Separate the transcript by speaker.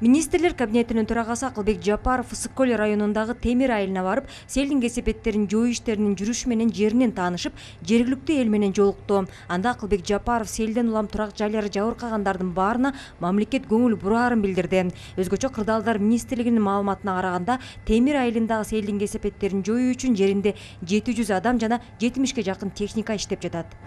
Speaker 1: Министрлер кабинетинин төрагасы Акылбек Жапаров Ысык көл районундагы Темир айылына барып, селдин кесепеттерин жою иштеринин жүрүшү менен жеринен таанышып, жергиликтүү эл менен жолукту. Анда Акылбек Жапаров селден улам турак жайлары жабыркагандардын баарына мамлекет көңүл бураарын билдирди. Өзгөчө Кырдаалдар министрлигинин маалыматына караганда, Темир айылындагы селдин кесепеттерин жоюу үчүн жеринде 700 адам жана 70 жакын техника иштеп жатат.